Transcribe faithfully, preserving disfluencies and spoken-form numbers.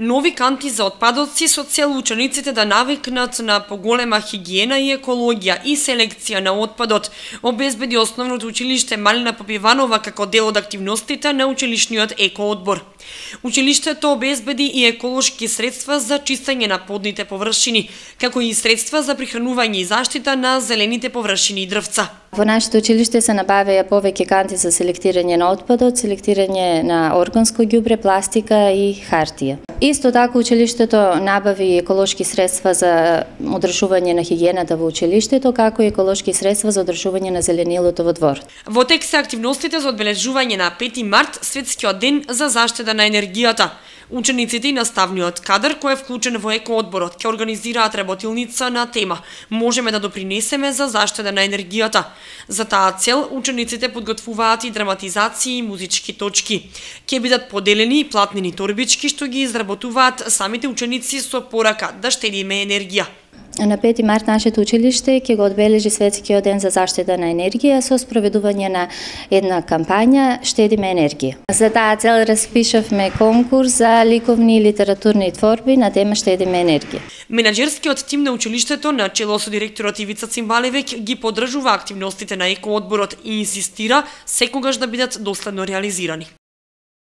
Нови канти за отпадоци со цел учениците да навикнат на поголема хигиена и екологија и селекција на отпадот, обезбеди Основното училиште Малина Попиванова како дел од активностите на училишниот екоодбор. Училиштето обезбеди и еколошки средства за чистење на подните површини, како и средства за прихранување и заштита на зелените површини и дрвца. Во нашето училиште се набавеа повеќе канти за селектирање на отпадот, селектирање на органско ѓубре, пластика и хартија. Исто така училиштето набави еколошки средства за одржување на хигиената во училиштето, како и еколошки средства за одржување на зеленилото во дворот. Во тек се активностите за одбележување на пети март, светскиот ден за заштита на енергијата. Учениците и наставниот кадар кој е вклучен во екоодборот ќе организираат работилница на тема "Можеме да допринесеме за заштита на енергијата". За таа цел учениците подготвуваат и драматизации и музички точки. Ќе бидат поделени и платнени торбички што ги изработуваат самите ученици со порака да штедиме енергија. На пети март нашето училиште ќе го одбележи светскиот ден за заштита на енергија со спроведување на една кампања "Штедиме енергија". За таа цел распишавме конкурс за ликовни и литературни творби на тема "Штедиме енергија". Менаџерскиот тим на училиштето на чело со директорот Ивица Цимбалевиќ ги поддржува активностите на екоодборот и инсистира секогаш да бидат доследно реализирани.